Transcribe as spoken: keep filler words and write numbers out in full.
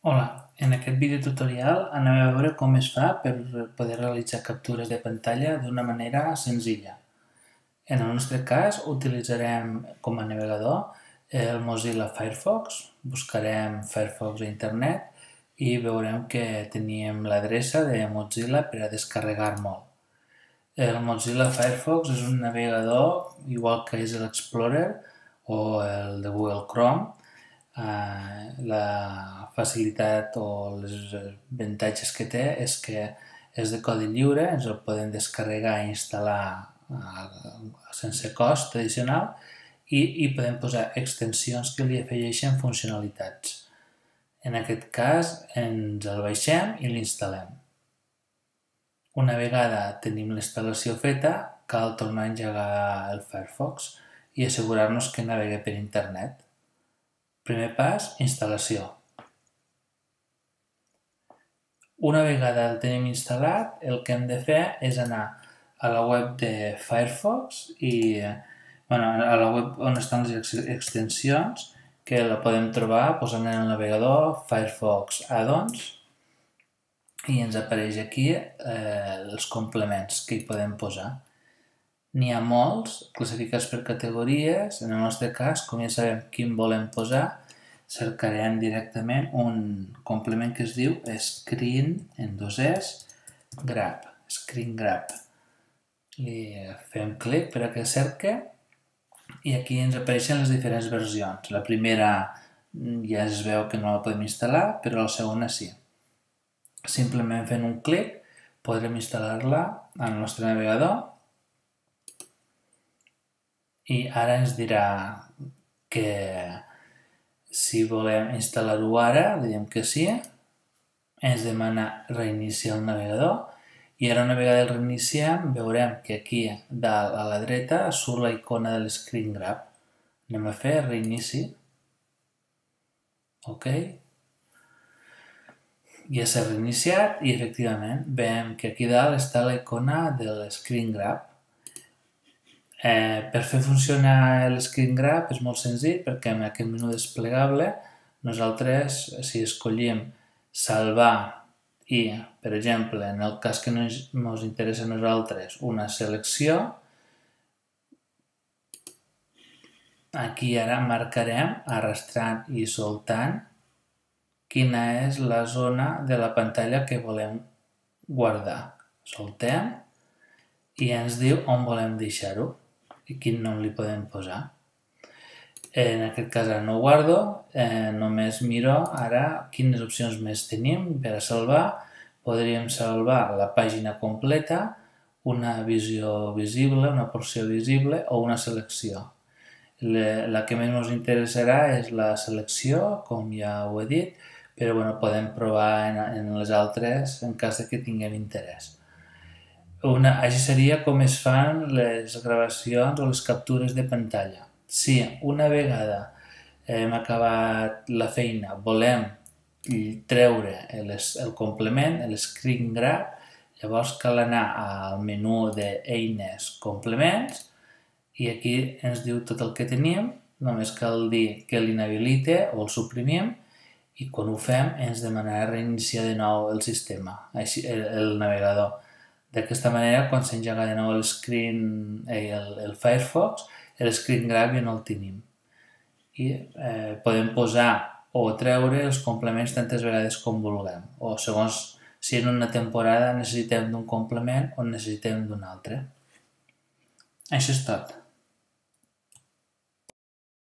Hola, en aquest vídeo tutorial anem a veure com es fa per poder realitzar captures de pantalla d'una manera senzilla. En el nostre cas utilitzarem com a navegador el Mozilla Firefox, buscarem Firefox a internet i veurem que teníem l'adreça de Mozilla per a descarregar molt. El Mozilla Firefox és un navegador igual que és l'Explorer o el de Google Chrome. Uh, la facilitat o els avantatges que té és que és de codi lliure, ens el podem descarregar i instal·lar uh, sense cost addicional i, i podem posar extensions que li afegeixen funcionalitats. En aquest cas ens el baixem i l'instal·lem. Una vegada tenim la instal·lació feta, cal tornar a engegar el Firefox i assegurar-nos que navega per internet. Primer pas, instal·lació. Una vegada el tenim instal·lat, el que hem de fer és anar a la web de Firefox i bueno, a la web on estan les extensions, que la podem trobar posant en el navegador Firefox Add-ons i ens apareix aquí eh, els complements que hi podem posar. N'hi ha molts, classificats per categories. En el nostre cas, com ja sabem quin volem posar, cercarem directament un complement que es diu Screen, en dos es, Grab, Screen Grab. I fem clic per a que cerque i aquí ens apareixen les diferents versions. La primera ja es veu que no la podem instal·lar, però la segona sí. Simplement fent un clic podrem instal·lar-la al nostre navegador i ara ens dirà que si volem instal·lar-ho ara, diem que sí, ens demana reiniciar el navegador i ara una vegada el reiniciem veurem que aquí dalt a la dreta surt la icona de l'Screen Grab. Anem a fer reinici. Ok. Ja s'ha reiniciat i efectivament veiem que aquí dalt està la icona de l'Screen Grab. Eh, per fer funcionar l'Screen Grab és molt senzill perquè en aquest menú desplegable nosaltres, si escollim salvar i, per exemple, en el cas que ens interessa a nosaltres una selecció, aquí ara marcarem arrastrant i soltant quina és la zona de la pantalla que volem guardar. Soltem i ens diu on volem deixar-ho i quin nom li podem posar. En aquest cas ara no ho guardo, eh, només miro ara quines opcions més tenim per a salvar. Podríem salvar la pàgina completa, una visió visible, una porció visible o una selecció. La que més ens interessarà és la selecció, com ja ho he dit, però bueno, podem provar en, en les altres en cas de que tinguem interès. Una, així seria com es fan les gravacions o les captures de pantalla. Si una vegada hem acabat la feina, volem treure el, el complement, l'Screen Grab, llavors cal anar al menú d'eines complements i aquí ens diu tot el que tenim, només cal dir que l'inhabilite o el suprimim i quan ho fem ens demanarà reiniciar de nou el sistema, així, el, el navegador. D'aquesta manera, quan s'engega de nou el, screen, eh, el, el Firefox, el Screen Grab ja no el tenim. I eh, podem posar o treure els complements tantes vegades com vulguem, o segons si en una temporada necessitem d'un complement o necessitem d'un altre. Això és tot.